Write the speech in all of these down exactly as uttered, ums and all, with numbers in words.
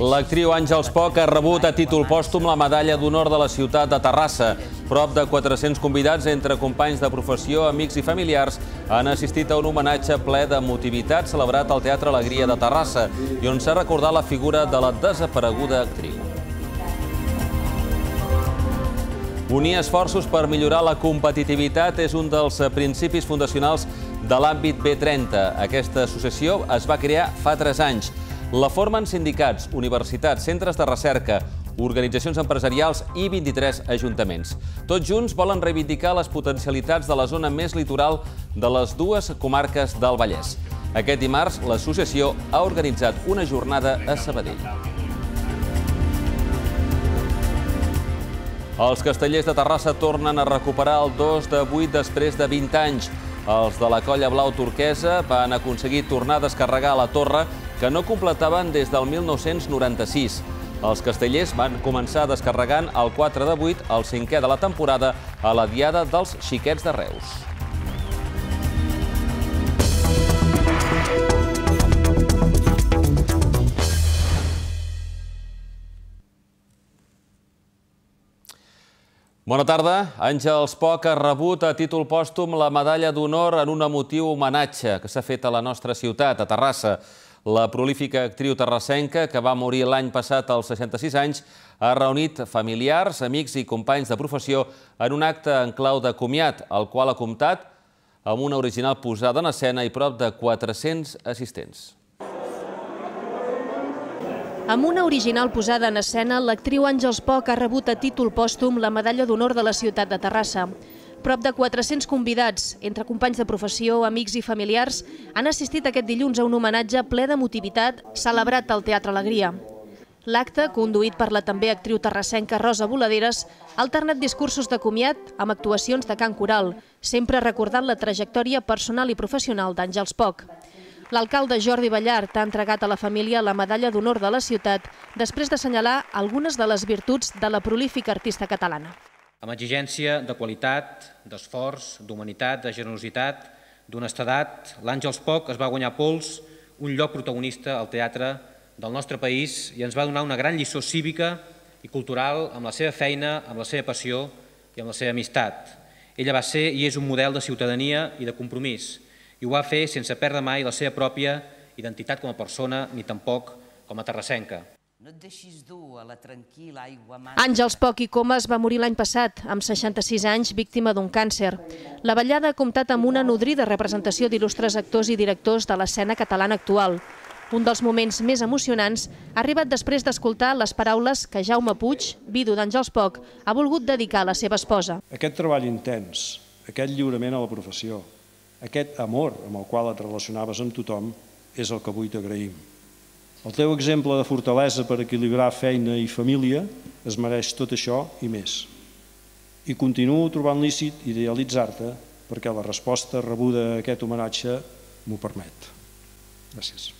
L'actriu Àngels Poch ha rebut a títol pòstum la medalla d'honor de la ciutat de Terrassa. Prop de quatre-cents convidats, entre companys de professió, amics i familiars, han assistit a un homenatge ple d'emotivitat celebrat al Teatre Alegria de Terrassa i on s'ha recordat la figura de la desapareguda actriu. Unir esforços per millorar la competitivitat és un dels principis fundacionals de l'àmbit B trenta. Aquesta associació es va crear fa tres anys. La formen sindicats, universitats, centres de recerca, organitzacions empresarials i vint-i-tres ajuntaments. Tots junts volen reivindicar les potencialitats de la zona més litoral de les dues comarques del Vallès. Aquest dimarts, l'associació ha organitzat una jornada a Sabadell. Els castellers de Terrassa tornen a recuperar el dos de vuit després de vint anys. Els de la colla blau turquesa van aconseguir tornar a descarregar la torre que no completaven des del mil nou-cents noranta-sis. Els castellers van començar descarregant el quatre de vuit, el cinquè de la temporada, a la Diada dels Xiquets de Reus. Bona tarda. Àngels Poch ha rebut a títol pòstum la medalla d'honor en un emotiu homenatge que s'ha fet a la nostra ciutat, a Terrassa. La prolífica actriu terrassenca, que va morir l'any passat als seixanta-sis anys, ha reunit familiars, amics i companys de professió en un acte en clau de comiat, el qual ha comptat amb una original posada en escena i prop de quatre-cents assistents. Amb una original posada en escena, l'actriu Àngels Poch ha rebut a títol pòstum la medalla d'honor de la ciutat de Terrassa. Prop de quatre-cents convidats, entre companys de professió, amics i familiars, han assistit aquest dilluns a un homenatge ple d'emotivitat celebrat al Teatre Alegria. L'acte, conduït per la també actriu terrassenca Rosa Boladeres, ha alternat discursos de comiat amb actuacions de cant coral, sempre recordant la trajectòria personal i professional d'Àngels Poch. L'alcalde Jordi Ballart ha entregat a la família la medalla d'honor de la ciutat després d'assenyalar algunes de les virtuts de la prolífica artista catalana. Amb exigència de qualitat, d'esforç, d'humanitat, de generositat, d'honestedat, l'Àngels Poch es va guanyar a pols un lloc protagonista al teatre del nostre país i ens va donar una gran lliçó cívica i cultural amb la seva feina, amb la seva passió i amb la seva amistat. Ella va ser i és un model de ciutadania i de compromís i ho va fer sense perdre mai la seva pròpia identitat com a persona ni tampoc com a terrassenca. Àngels Poch i Comas va morir l'any passat, amb seixanta-sis anys, víctima d'un càncer. La ballada ha comptat amb una nodrida representació d'il·lustres actors i directors de l'escena catalana actual. Un dels moments més emocionants ha arribat després d'escoltar les paraules que Jaume Puig, vidu d'Àngels Poch, ha volgut dedicar a la seva esposa. Aquest treball intens, aquest lliurament a la professió, aquest amor amb el qual et relacionaves amb tothom és el que avui t'agraïm. El teu exemple de fortalesa per equilibrar feina i família es mereix tot això i més. I continuo trobant lícit idealitzar-te perquè la resposta rebuda a aquest homenatge m'ho permet. Gràcies.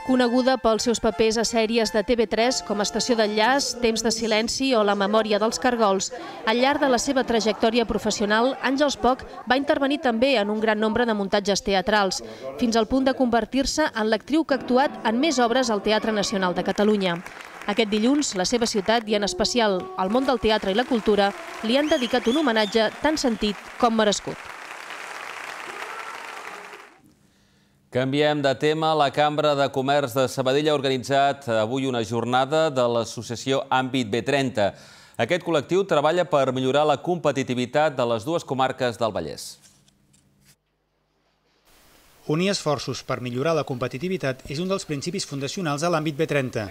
Coneguda pels seus papers a sèries de T V tres com Estació d'Enllaç, Temps de silenci o La memòria dels cargols, al llarg de la seva trajectòria professional, Àngels Poch va intervenir també en un gran nombre de muntatges teatrals, fins al punt de convertir-se en l'actriu que ha actuat en més obres al Teatre Nacional de Catalunya. Aquest dilluns, la seva ciutat i en especial el món del teatre i la cultura li han dedicat un homenatge tan sentit com merescut. Canviem de tema. La Cambra de Comerç de Sabadell ha organitzat avui una jornada de l'associació Àmbit B trenta. Aquest col·lectiu treballa per millorar la competitivitat de les dues comarques del Vallès. Unir esforços per millorar la competitivitat és un dels principis fundacionals a l'àmbit B trenta.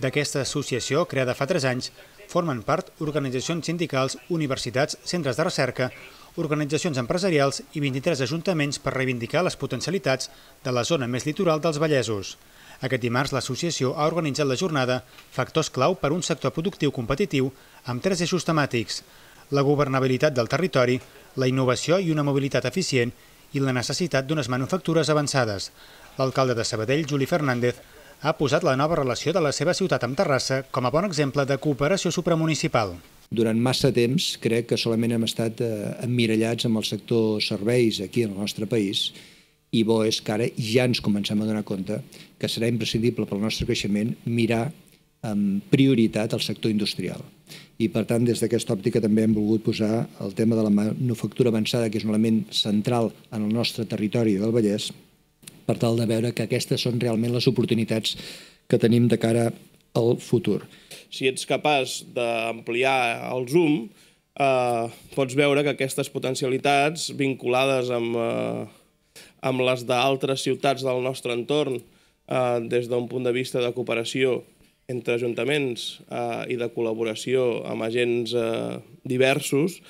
D'aquesta associació, creada fa tres anys, formen part organitzacions sindicals, universitats, centres de recerca, organitzacions empresarials i vint-i-tres ajuntaments per reivindicar les potencialitats de la zona més litoral dels Vallesos. Aquest dimarts l'associació ha organitzat la jornada Factors clau per un sector productiu competitiu amb tres eixos temàtics: la governabilitat del territori, la innovació i una mobilitat eficient i la necessitat d'unes manufactures avançades. L'alcalde de Sabadell, Juli Fernández, ha posat la nova relació de la seva ciutat amb Terrassa com a bon exemple de cooperació supramunicipal. Durant massa temps crec que solament hem estat emmirallats amb el sector serveis aquí en el nostre país i bo és que ara ja ens comencem a donar compte que serà imprescindible pel nostre creixement mirar amb prioritat el sector industrial. I, per tant, des d'aquesta òptica també hem volgut posar el tema de la manufactura avançada, que és un element central en el nostre territori del Vallès, per tal de veure que aquestes són realment les oportunitats que tenim de cara al futur. Si ets capaç d'ampliar el zoom, eh, pots veure que aquestes potencialitats vinculades amb, eh, amb les d'altres ciutats del nostre entorn, eh, des d'un punt de vista de cooperació entre ajuntaments eh, i de col·laboració amb agents eh, diversos,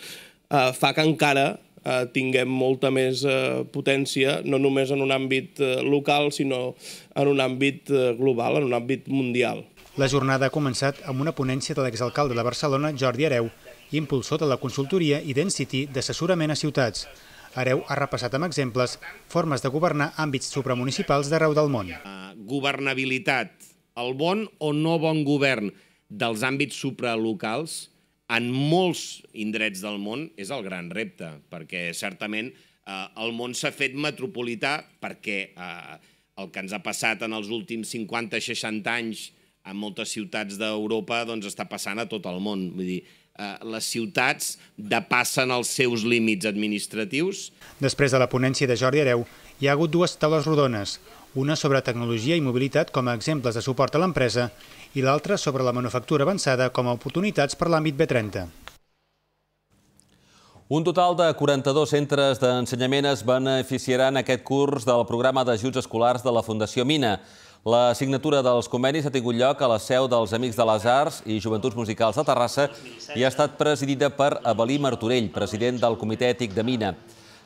eh, fa que encara eh, tinguem molta més eh, potència, no només en un àmbit eh, local, sinó en un àmbit eh, global, en un àmbit mundial. La jornada ha començat amb una ponència de l'exalcalde de Barcelona, Jordi Hereu, impulsor de la consultoria Identity d'assessorament a ciutats. Hereu ha repassat amb exemples formes de governar àmbits supramunicipals d'arreu del món. Governabilitat, el bon o no bon govern dels àmbits supralocals en molts indrets del món és el gran repte, perquè certament el món s'ha fet metropolità perquè el que ens ha passat en els últims cinquanta seixanta anys en moltes ciutats d'Europa està passant a tot el món. Vull dir, les ciutats depassen els seus límits administratius. Després de la ponència de Jordi Hereu, hi ha hagut dues taules rodones, una sobre tecnologia i mobilitat com a exemples de suport a l'empresa i l'altra sobre la manufactura avançada com a oportunitats per l'àmbit B trenta. Un total de quaranta-dos centres d'ensenyament es beneficiaran aquest curs del programa d'ajuts escolars de la Fundació Mina. La signatura dels convenis ha tingut lloc a la seu dels Amics de les Arts i Joventuts Musicals de Terrassa i ha estat presidida per Avelí Martorell, president del Comitè Ètic de Mina.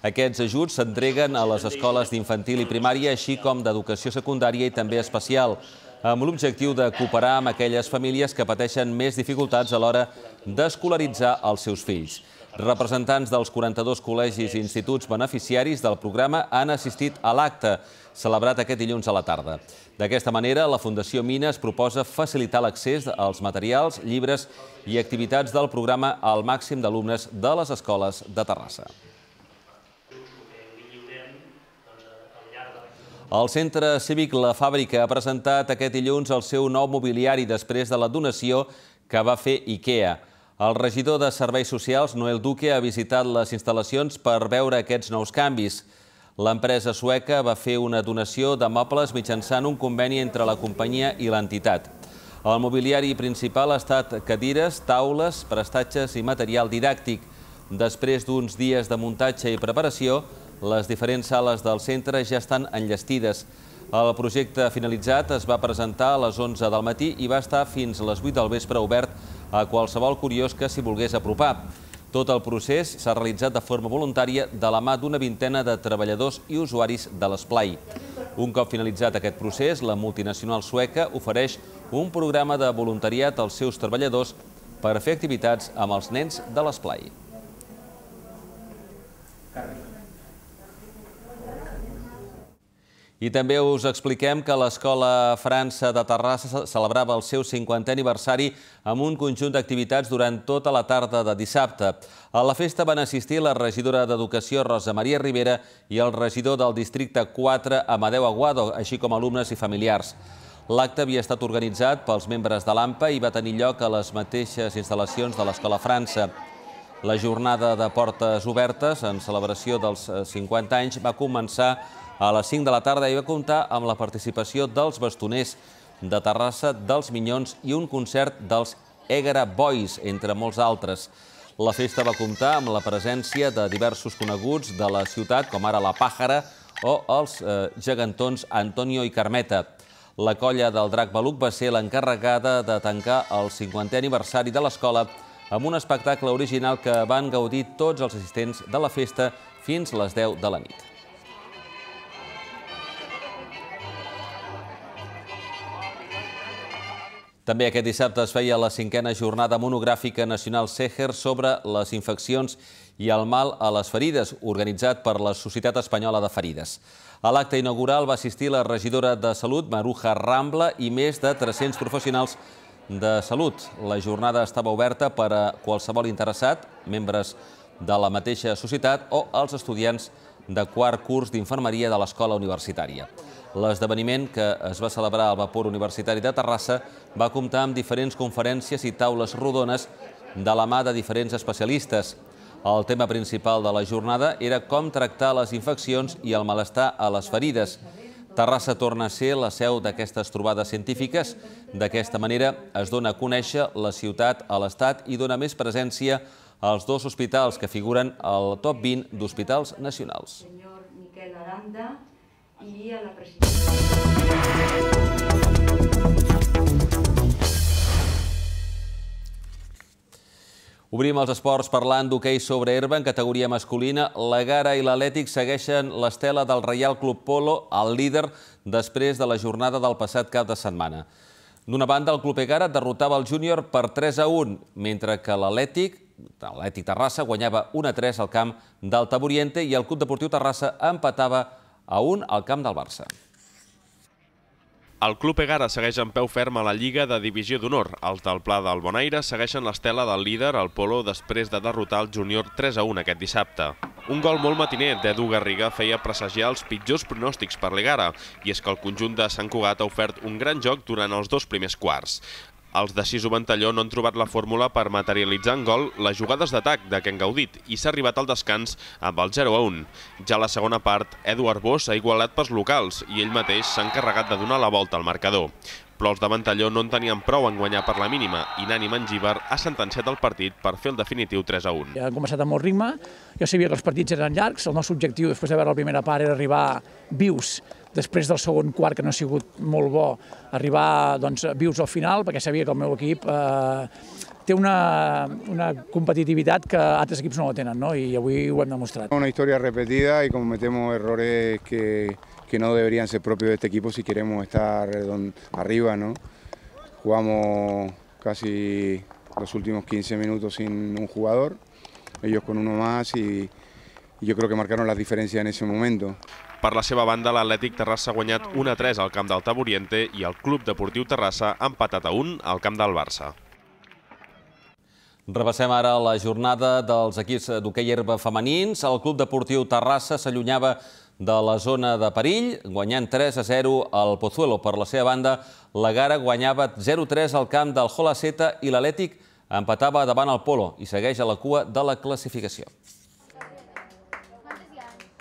Aquests ajuts s'entreguen a les escoles d'infantil i primària, així com d'educació secundària i també especial, amb l'objectiu de cooperar amb aquelles famílies que pateixen més dificultats a l'hora d'escolaritzar els seus fills. Representants dels quaranta-dos col·legis i instituts beneficiaris del programa han assistit a l'acte, celebrat aquest dilluns a la tarda. D'aquesta manera, la Fundació Mina es proposa facilitar l'accés als materials, llibres i activitats del programa al màxim d'alumnes de les escoles de Terrassa. El Centre Cívic La Fàbrica ha presentat aquest dilluns el seu nou mobiliari després de la donació que va fer IKEA. El regidor de Serveis Socials, Noel Duque, ha visitat les instal·lacions per veure aquests nous canvis. L'empresa sueca va fer una donació de mobles mitjançant un conveni entre la companyia i l'entitat. El mobiliari principal ha estat cadires, taules, prestatges i material didàctic. Després d'uns dies de muntatge i preparació, les diferents sales del centre ja estan enllestides. El projecte finalitzat es va presentar a les onze del matí i va estar fins a les vuit del vespre obert a qualsevol curiós que s'hi volgués apropar. Tot el procés s'ha realitzat de forma voluntària de la mà d'una vintena de treballadors i usuaris de l'esplai. Un cop finalitzat aquest procés, la multinacional sueca ofereix un programa de voluntariat als seus treballadors per fer activitats amb els nens de l'esplai. I també us expliquem que l'Escola França de Terrassa celebrava el seu cinquantè aniversari amb un conjunt d'activitats durant tota la tarda de dissabte. A la festa van assistir la regidora d'Educació, Rosa Maria Rivera, i el regidor del districte quatre, Amadeu Aguado, així com alumnes i familiars. L'acte havia estat organitzat pels membres de l'AMPA i va tenir lloc a les mateixes instal·lacions de l'Escola França. La jornada de portes obertes, en celebració dels cinquanta anys, va començar a les cinc de la tarda i va comptar amb la participació dels bastoners de Terrassa, dels Minyons i un concert dels Ègara Boys, entre molts altres. La festa va comptar amb la presència de diversos coneguts de la ciutat, com ara la Pàjara o els gegantons Antonio i Carmeta. La colla del Drac Beluc va ser l'encarregada de tancar el cinquantè aniversari de l'escola amb un espectacle original que van gaudir tots els assistents de la festa fins a les deu de la nit. També aquest dissabte es feia la cinquena jornada monogràfica nacional Seher sobre les infeccions i el mal a les ferides, organitzat per la Societat Espanyola de Ferides. A l'acte inaugural va assistir la regidora de Salut, Maruja Rambla, i més de tres-cents professionals de salut. La jornada estava oberta per a qualsevol interessat, membres de la mateixa societat o els estudiants de quart curs d'infermeria de l'escola universitària. L'esdeveniment, que es va celebrar al Vapor Universitari de Terrassa, va comptar amb diferents conferències i taules rodones de la mà de diferents especialistes. El tema principal de la jornada era com tractar les infeccions i el malestar a les ferides. Terrassa torna a ser la seu d'aquestes trobades científiques. D'aquesta manera es dona a conèixer la ciutat a l'Estat i dona més presència als dos hospitals que figuren al top vint d'hospitals nacionals. Senyor Miquel Aranda i a la presidenta. Obrim els esports parlant d'hoquei sobre herba en categoria masculina. La Gara i l'Atlètic segueixen l'estela del Reial Club Polo, el líder, després de la jornada del passat cap de setmana. D'una banda, el Club Egara derrotava el júnior per tres a un, mentre que l'Atlètic, l'Atlètic Terrassa, guanyava un a tres al camp del Taburiente i el Club Deportiu Terrassa empatava a un al camp del Barça. El Club Egara segueix en peu ferm a la Lliga de Divisió d'Honor. Els del Pla del Bonaire segueixen l'estela del líder, el Polo, després de derrotar el júnior tres a un aquest dissabte. Un gol molt matiner d'Edu Garriga feia presagiar els pitjors pronòstics per l'Egara, i és que el conjunt de Sant Cugat ha ofert un gran joc durant els dos primers quarts. Els de Siso Ventalló no han trobat la fórmula per materialitzar en gol les jugades d'atac de què han gaudit i s'ha arribat al descans amb el zero a un. Ja a la segona part, Eduard Bosch ha igualat pels locals i ell mateix s'ha encarregat de donar la volta al marcador. Però els de Ventalló no en tenien prou en guanyar per la mínima i Nani Mangíbar ha sentenciat el partit per fer el definitiu tres a un. Ja han començat amb molt ritme, jo sabia que els partits eren llargs, el nostre objectiu després de veure la primera part era arribar vius després del segon quart, que no ha sigut molt bo, arribar doncs, vius al final, perquè sabia que el meu equip eh, té una, una competitivitat que altres equips no la tenen, ¿no? I avui ho hem demostrat. Una història repetida y cometemos errores que, que no deberían ser propios de este equipo si queremos estar arriba, ¿no? Jugamos casi los últimos quince minutos sin un jugador, ellos con uno más y, y yo creo que marcaron las diferencias en ese momento. Per la seva banda, l'Atlètic Terrassa ha guanyat un a tres al camp del Taburiente i el Club Deportiu Terrassa ha empatat a un al camp del Barça. Repassem ara la jornada dels equips d'hoquei herba femenins. El Club Deportiu Terrassa s'allunyava de la zona de perill, guanyant tres a zero al Pozuelo. Per la seva banda, la Gara guanyava zero a tres al camp del Jolaceta i l'Atlètic empatava davant el Polo i segueix a la cua de la classificació.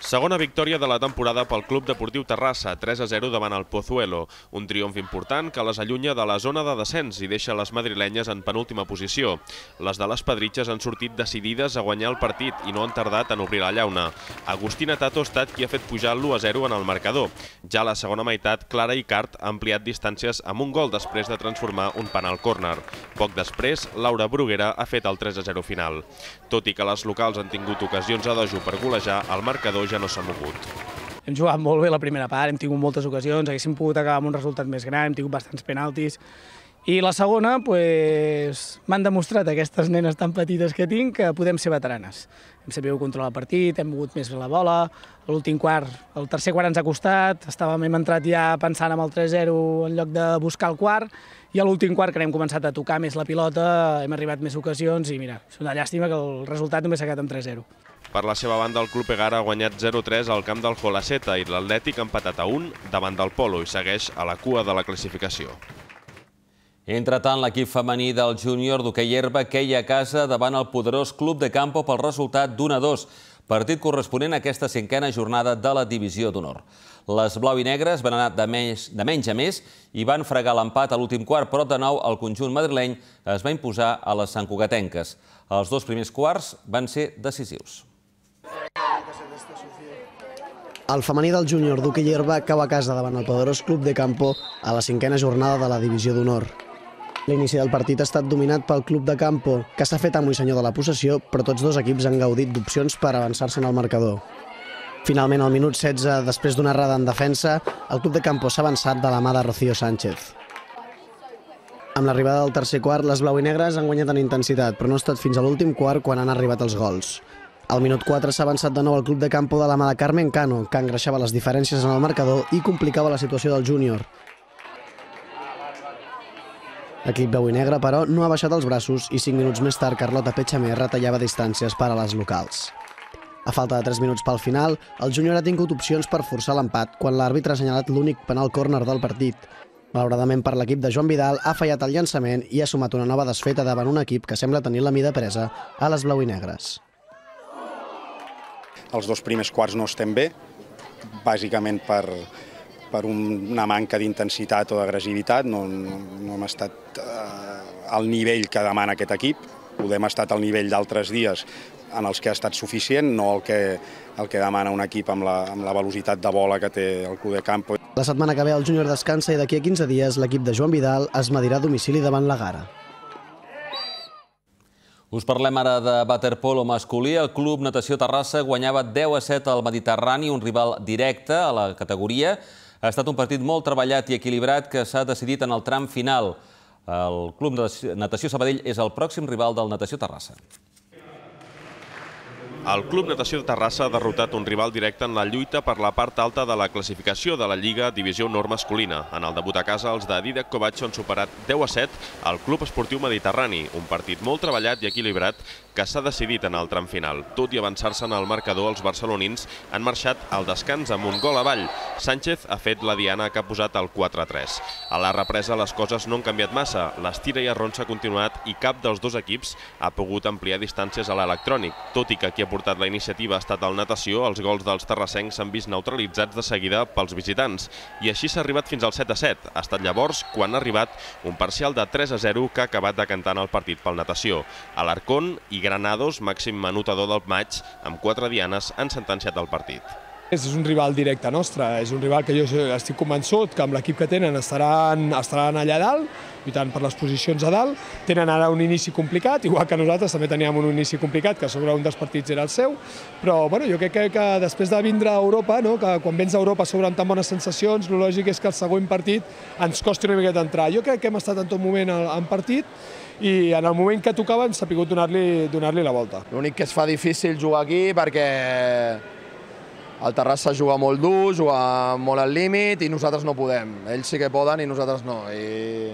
Segona victòria de la temporada pel Club Deportiu Terrassa, tres a zero davant el Pozuelo. Un triomf important que les allunya de la zona de descens i deixa les madrilenyes en penúltima posició. Les de les Pedritxes han sortit decidides a guanyar el partit i no han tardat en obrir la llauna. Agustina Tato ha estat qui ha fet pujar l'u a zero en el marcador. Ja a la segona meitat, Clara Icart ha ampliat distàncies amb un gol després de transformar un penal córner. Poc després, Laura Bruguera ha fet el tres a zero final. Tot i que les locals han tingut ocasions a dojo per golejar, el marcador ja no s'ha mogut. Hem jugat molt bé la primera part, hem tingut moltes ocasions, haguéssim pogut acabar amb un resultat més gran, hem tingut bastants penaltis. I la segona, pues, m'han demostrat aquestes nenes tan petites que tinc que podem ser veteranes. Hem sabut controlar el partit, hem mogut més la bola, l'últim quart, el tercer quart ens ha costat, estàvem, hem entrat ja pensant en el tres a zero en lloc de buscar el quart, i a l'últim quart, que hem començat a tocar més la pilota, hem arribat més ocasions i mira, és una llàstima que el resultat només s'ha quedat amb tres a zero. Per la seva banda, el Club Egara ha guanyat zero a tres al camp del Jolaceta i l'Atlètic ha empatat a un davant del Polo i segueix a la cua de la classificació. Entretant, l'equip femení del júnior d'hoquei herba queia a casa davant el poderós Club de Campo pel resultat d'un a dos, partit corresponent a aquesta cinquena jornada de la Divisió d'Honor. Les blau i negres van anar de menys, de menys a més i van fregar l'empat a l'últim quart, però de nou el conjunt madrileny es va imposar a les santcugatenques. Els dos primers quarts van ser decisius. El femení del júnior d'hoquei herba cau a casa davant el poderós Club de Campo a la cinquena jornada de la Divisió d'Honor. L'inici del partit ha estat dominat pel Club de Campo, que s'ha fet amo i senyor de la possessió, però tots dos equips han gaudit d'opcions per avançar-se en el marcador. Finalment, al minut setze, després d'una errada en defensa, el Club de Campo s'ha avançat de la mà de Rocío Sánchez. Amb l'arribada del tercer quart, les blau i negres han guanyat en intensitat, però no ha estat fins a l'últim quart quan han arribat els gols. Al minut quatre s'ha avançat de nou el Club de Campo de la mà de Carmen Cano, que engreixava les diferències en el marcador i complicava la situació del júnior. L'equip blau i negre, però, no ha baixat els braços i cinc minuts més tard Carlota Petxamer retallava distàncies per a les locals. A falta de tres minuts pel final, el júnior ha tingut opcions per forçar l'empat quan l'àrbitre ha assenyalat l'únic penal córner del partit. Malauradament per l'equip de Joan Vidal ha fallat el llançament i ha sumat una nova desfeta davant un equip que sembla tenir la mida presa a les blau i negres. Els dos primers quarts no estem bé, bàsicament per, per una manca d'intensitat o d'agressivitat. No, no, no hem estat eh, al nivell que demana aquest equip. Podem estar al nivell d'altres dies en els que ha estat suficient, no el que, el que demana un equip amb la, amb la velocitat de bola que té el Club de Campo. La setmana que ve el júnior descansa i d'aquí a quinze dies l'equip de Joan Vidal es medirà a domicili davant la Gara. Us parlem ara de waterpolo masculí. El Club Natació Terrassa guanyava deu a set al Mediterrani, un rival directe a la categoria. Ha estat un partit molt treballat i equilibrat que s'ha decidit en el tram final. El Club Natació Sabadell és el pròxim rival del Natació Terrassa. El Club Natació de Terrassa ha derrotat un rival directe en la lluita per la part alta de la classificació de la Lliga Divisió Honor masculina. En el debut a casa, els de Didac Kovac han superat deu a set al Club Esportiu Mediterrani, un partit molt treballat i equilibrat que s'ha decidit en el tram final. Tot i avançar-se en el marcador, els barcelonins han marxat al descans amb un gol avall. Sánchez ha fet la diana que ha posat el quatre a tres. A la represa les coses no han canviat massa. L'estira i arronsa ha continuat i cap dels dos equips ha pogut ampliar distàncies a l'electrònic. Tot i que qui ha portat la iniciativa ha estat el Natació, els gols dels terrassencs s'han vist neutralitzats de seguida pels visitants. I així s'ha arribat fins al set a set. Ha estat llavors quan ha arribat un parcial de tres a zero que ha acabat decantant el partit pel Natació. Alarcón i Granados, màxim anotador del maig, amb quatre dianes, han sentenciat el partit. És un rival directe nostre, és un rival que jo estic convençut que amb l'equip que tenen estaran, estaran allà dalt, lluitant per les posicions a dalt. Tenen ara un inici complicat, igual que nosaltres també teníem un inici complicat, que sobre un dels partits era el seu, però bueno, jo crec que, que després de vindre a Europa, no, que quan vens a Europa sobre amb tan bones sensacions, el lògic és que el següent partit ens costi una miqueta entrar. Jo crec que hem estat en tot moment en partit i en el moment que tocava hem sabut donar-li donar-li la volta. L'únic que es fa difícil jugar aquí perquè el Terrassa juga molt dur, juga molt al límit i nosaltres no podem. Ells sí que poden i nosaltres no. I,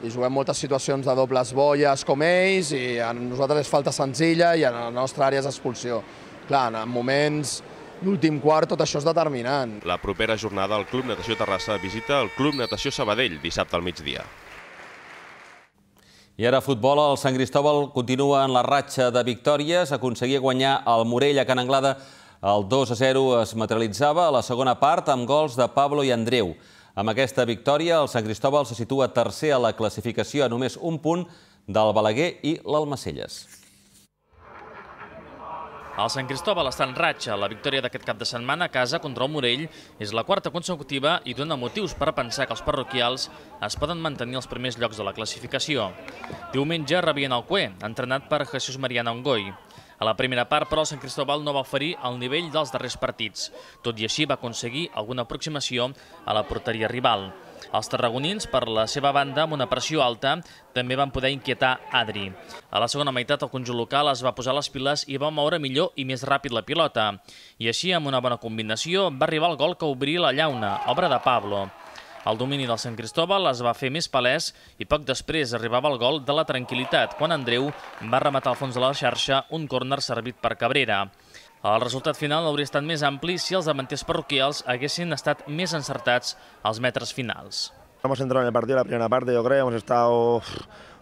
i juguem moltes situacions de dobles bolles com ells i a nosaltres és falta senzilla i a la nostra àrea és expulsió. Clar, en moments l'últim quart tot això és determinant. La propera jornada el Club Natació Terrassa visita el Club Natació Sabadell dissabte al migdia. I ara futbol, el Sant Cristòbal continua en la ratxa de victòries. Aconseguia guanyar el Morell a Can Anglada. El dos a zero es materialitzava a la segona part amb gols de Pablo i Andreu. Amb aquesta victòria, el Sant Cristòbal se situa tercer a la classificació a només un punt del Balaguer i l'Almacelles. El Sant Cristòbal està en ratxa. La victòria d'aquest cap de setmana a casa contra el Morell és la quarta consecutiva i dona motius per pensar que els parroquials es poden mantenir als primers llocs de la classificació. Diumenge rebien el Cué, entrenat per Jesús Mariana Ongoi. A la primera part, però, el Sant Cristòbal no va oferir el nivell dels darrers partits. Tot i així, va aconseguir alguna aproximació a la porteria rival. Els tarragonins, per la seva banda, amb una pressió alta, també van poder inquietar Adri. A la segona meitat, el conjunt local es va posar les piles i va moure millor i més ràpid la pilota. I així, amb una bona combinació, va arribar el gol que obria la llauna, obra de Pablo. El domini del Sant Cristòbal es va fer més palès i poc després arribava el gol de la tranquil·litat, quan Andreu va rematar al fons de la xarxa un córner servit per Cabrera. El resultat final hauria estat més ampli si els davanters parroquials haguessin estat més encertats als metres finals. Hemos entrado en el partido la primera parte, yo creo, hemos estado...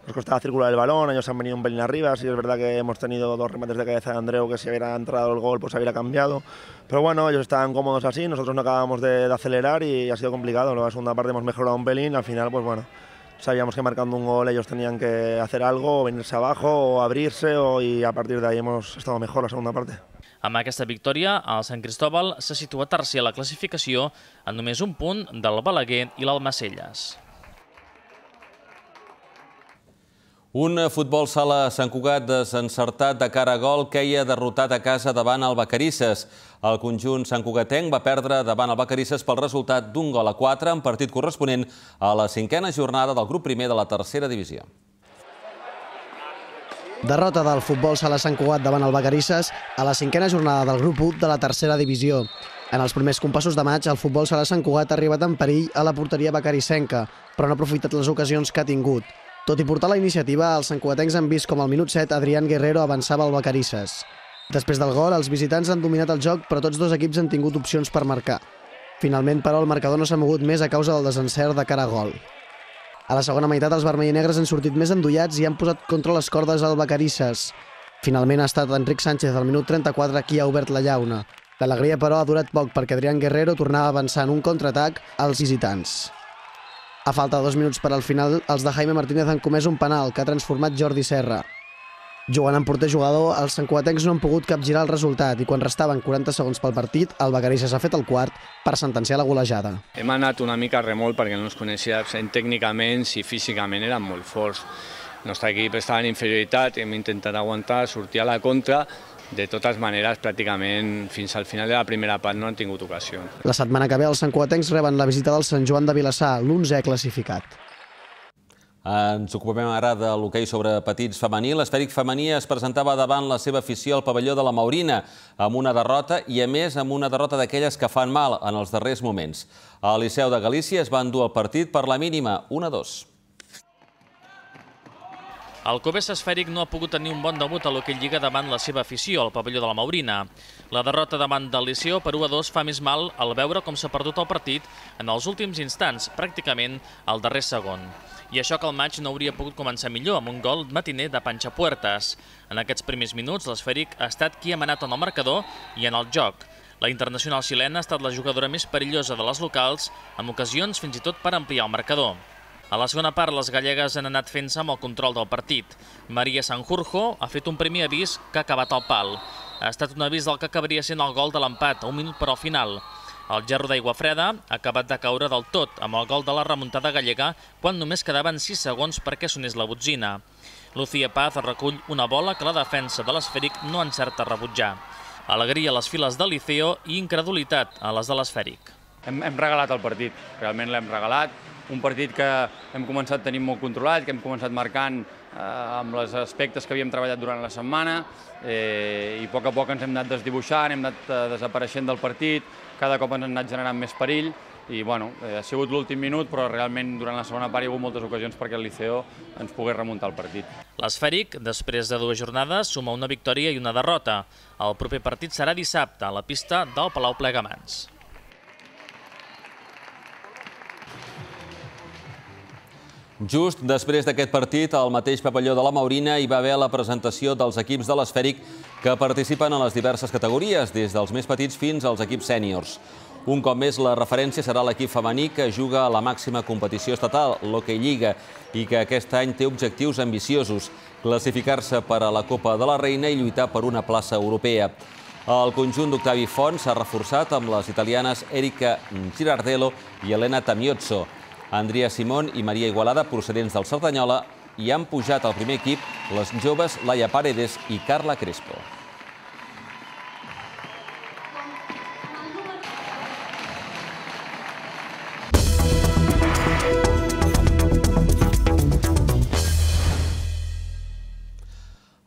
Nos costaba circular el balón, ellos han venido un pelín arriba, sí es verdad que hemos tenido dos remates de cabeza de Andreu que si hubiera entrado el gol pues hubiera cambiado, pero bueno, ellos estaban cómodos así, nosotros no acabamos de, de acelerar y ha sido complicado. En la segunda parte hemos mejorado un pelín, al final pues bueno, sabíamos que marcando un gol ellos tenían que hacer algo, o venirse abajo o abrirse o, y a partir de ahí hemos estado mejor la segunda parte. Amb aquesta victòria, el Sant Cristòbal se situa tercer a la classificació en només un punt del Balaguer i l'Almacelles. Un futbol sala Sant Cugat desencertat de cara a gol queia derrotat a casa davant el Vacarisses. El conjunt santcugatenc va perdre davant el Vacarisses pel resultat d'un gol a quatre en partit corresponent a la cinquena jornada del grup primer de la tercera divisió. Derrota del futbol sala Sant Cugat davant el Vacarisses a la cinquena jornada del grup u de la tercera divisió. En els primers compassos de maig, el futbol sala Sant Cugat ha arribat en perill a la porteria vacarissenca, però no ha aprofitat les ocasions que ha tingut. Tot i portar la iniciativa, els santcugatencs han vist com al minut set Adrián Guerrero avançava al Vacarisses. Després del gol, els visitants han dominat el joc, però tots dos equips han tingut opcions per marcar. Finalment, però, el marcador no s'ha mogut més a causa del desencert de cara a gol. A la segona meitat, els vermell i negres han sortit més endollats i han posat contra les cordes al Vacarisses. Finalment ha estat Enric Sánchez al minut trenta-quatre qui ha obert la llauna. L'alegria, però, ha durat poc perquè Adrián Guerrero tornava a avançar en un contraatac als visitants. A falta de dos minuts per al final, els de Jaime Martínez han comès un penal que ha transformat Jordi Serra. Jugant amb porter jugador, els santcugatencs no han pogut capgirar el resultat i quan restaven quaranta segons pel partit, el Vacarisses ha fet el quart per sentenciar la golejada. Hem anat una mica a remolc perquè no ens coneixíem tècnicament i físicament eren molt forts. El nostre equip estava en inferioritat, hem intentat aguantar, sortir a la contra. De totes maneres, pràcticament fins al final de la primera part no han tingut ocasió. La setmana que ve els santcugatencs reben la visita del Sant Joan de Vilassar, l'onzè classificat. Ens ocupem ara de l'hoquei sobre petits femení. L'esfèric femení es presentava davant la seva afició al pavelló de la Maurina amb una derrota i, a més, amb una derrota d'aquelles que fan mal en els darrers moments. Al Liceu de Galícia es va endur el partit per la mínima, un a dos. El Covés esfèric no ha pogut tenir un bon debut a l'hoquei Lliga davant la seva afició al pavelló de la Maurina. La derrota davant del Liceu per u a dos fa més mal al veure com s'ha perdut el partit en els últims instants, pràcticament al darrer segon. I això que el maig no hauria pogut començar millor amb un gol matiner de Panchapuertas. En aquests primers minuts, l'esfèric ha estat qui ha manat en el marcador i en el joc. La internacional xilena ha estat la jugadora més perillosa de les locals, amb ocasions fins i tot per ampliar el marcador. A la segona part, les gallegues han anat fent-se amb el control del partit. Maria Sanjurjo ha fet un primer avís que ha acabat al pal. Ha estat un avís del que acabaria sent el gol de l'empat, a un minut per al final. El gerro d'aigua freda ha acabat de caure del tot amb el gol de la remuntada gallega quan només quedaven sis segons perquè sonés la botzina. Lucía Paz recull una bola que la defensa de l'esfèric no encerta a rebutjar. Alegria a les files del Liceo i incredulitat a les de l'esfèric. Hem, hem regalat el partit, realment l'hem regalat. Un partit que hem començat tenint molt controlat, que hem començat marcant eh, amb els aspectes que havíem treballat durant la setmana eh, i a poc a poc ens hem anat desdibuixant, hem anat eh, desapareixent del partit, cada cop ens han anat generant més perill i bueno, eh, ha sigut l'últim minut, però realment durant la segona part hi ha hagut moltes ocasions perquè el Liceo ens pogués remuntar el partit. L'esfèric, després de dues jornades, suma una victòria i una derrota. El proper partit serà dissabte a la pista del Palau Plegamans. Just després d'aquest partit, al mateix pavelló de la Maurina hi va haver la presentació dels equips de l'esfèric que participen en les diverses categories, des dels més petits fins als equips sèniors. Un cop més, la referència serà l'equip femení que juga a la màxima competició estatal, l'Hockey Lliga, i que aquest any té objectius ambiciosos, classificar-se per a la Copa de la Reina i lluitar per una plaça europea. El conjunt d'Octavi Font s'ha reforçat amb les italianes Erika Girardello i Elena Tamiozzo. Andrea Simón i Maria Igualada, procedents del Cerdanyola, i han pujat al primer equip les joves Laia Paredes i Carla Crespo.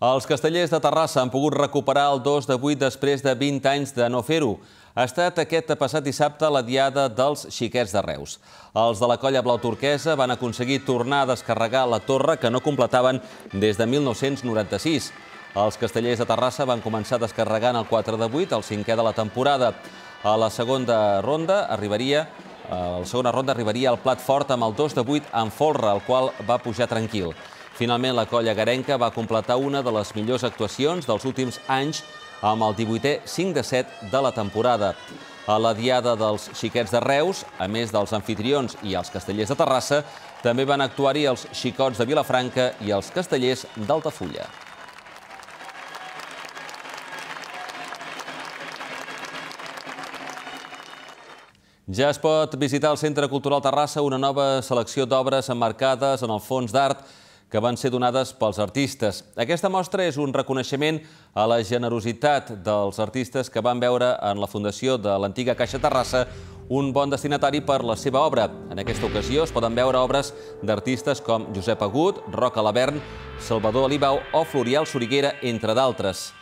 Els castellers de Terrassa han pogut recuperar el dos de vuit després de vint anys de no fer-ho. Ha estat aquest passat dissabte la diada dels xiquets de Reus. Els de la colla blau turquesa van aconseguir tornar a descarregar la torre que no completaven des de mil nou-cents noranta-sis. Els castellers de Terrassa van començar descarregant el quatre de vuit, el cinquè de la temporada. A la segona ronda arribaria, a la segona ronda arribaria el plat fort amb el dos de vuit en folre, el qual va pujar tranquil. Finalment, la colla garenca va completar una de les millors actuacions dels últims anys amb el divuitè cinc de set de la temporada. A la diada dels xiquets de Reus, a més dels anfitrions i els castellers de Terrassa, també van actuar-hi els xicots de Vilafranca i els castellers d'Altafulla. Ja es pot visitar al Centre Cultural Terrassa una nova selecció d'obres emmarcades en el fons d'art que van ser donades pels artistes. Aquesta mostra és un reconeixement a la generositat dels artistes que van veure en la fundació de l'antiga Caixa Terrassa un bon destinatari per la seva obra. En aquesta ocasió es poden veure obres d'artistes com Josep Agut, Roc Alabern, Salvador Alibau o Florial Soriguera, entre d'altres.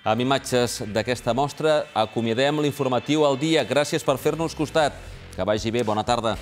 Amb imatges d'aquesta mostra acomiadem l'informatiu al dia. Gràcies per fer-nos costat. Que vagi bé, bona tarda.